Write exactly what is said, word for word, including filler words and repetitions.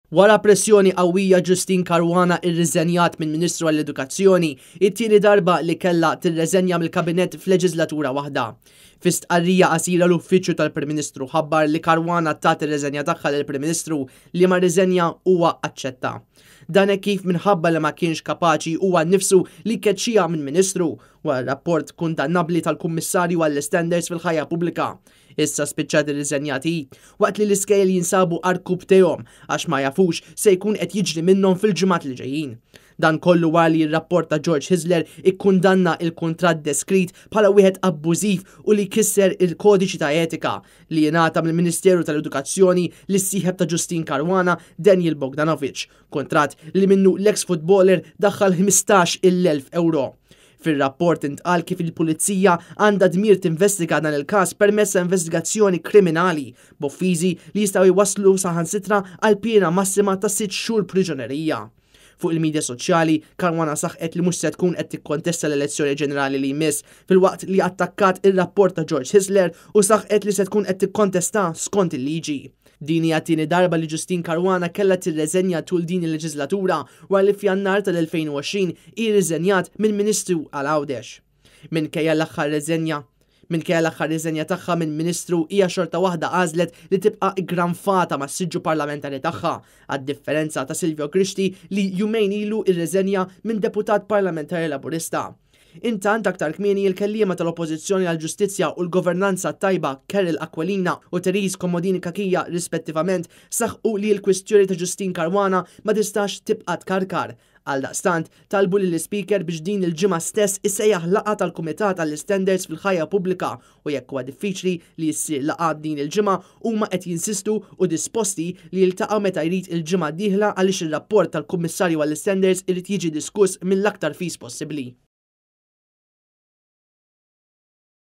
Wara pressjoni qawwija, Justyne Caruana irriżenjat minn Ministru għall-Edukazzjoni, it-tieni darba li kellha tirreżenja mill-Kabinett f'leġislatura waħda. Fi stqarrija qasira, l-Uffiċċju tal-Prim Ministru ħabbar li Caruana tat ir-reżenja tagħha lill-Prim Ministru, li ma riżenja huwa aċċetta. Dan hekk kif minħabba li ma kienx kapaċi huwa nnifsu li keċċija minn Ministru wara rapport kundannabli tal-Kummissarju għall-Standards fil-Ħajja Pubblika. Issa spiċċat irriżenjat waqt li l-iskejjel jinsabu għarkupptejhom għax ma jafux se jkun qed jiġri minnhom fil-ġimgħat li ġejjin. Dan kollu wara li r-rapport ta' George Hyzler ikkundanna il-kuntratt deskritt bħala wieħed abbużiv u li kisser il-kodiċi ta' etika li jingħata mill-Ministeru tal-Edukazzjoni lis-sieħeb ta' Justyne Caruana, Daniel Bogdanovic, kuntratt li minnu l-ex footballer daħħal ħmistax-il elf euro. Fil-rapport intqal kif il-pulizija għandha dmir tinvestiga dan il-każ permezz ta' investigazzjoni kriminali b'offiżi li jistgħu jwaslu saħansitra għal piena massima ta' sitt xhur priġunerija. Fuq il-medja soċjali, Caruana saħqet li mhux se tkun qed tikkontesta l-elezzjoni ġenerali li jmiss, filwaqt li attakkat ir-rapport ta' George Hyzler u saħqet li se tkun qed tikkontesta skont il-liġi. Din hija tieni darba li Justyne Caruana kellha tirreżenja tul din il-leġislatura, wara li f'Jannar tal-elfejn u għoxrin irriżenjat minn Ministru għal Għawdex. Minkejja l-aħħar reżenja Minkejja l-aħħar riżenja tagħha minn Ministru, hija xorta waħda għażlet li tibqa' iggranfata mas-siġġu parlamentari tagħha, għad-differenza ta' Silvio Grixti, li jumejn ilu irreżenja minn deputat parlamentari Laburista. Intant, aktar kmieni, il-kelliema tal-Oppożizzjoni għal-Ġustizzja u l-Governanza Tajba, Karol Aquilina u Therese Comodini Cachia rispettivament, saħqu li l-kwistjoni ta' Justyne Caruana ma tistax tibqa' tkarkar. Għaldaqstant, talbu lill-Speaker biex din il-ġimgħa stess isejjaħ laqgħa tal-Kumitat għall-Standards fil-Ħajja Pubblika, u jekk huwa diffiċli li jsir laqgħa din il-ġimgħa, huma qed jinsistu u disposti li jiltaqgħu meta jrid il-ġimgħa dieħla, għaliex ir-rapport tal-Kummissarju għall-Standards irid jiġi diskuss mill-aktar fis possibbli.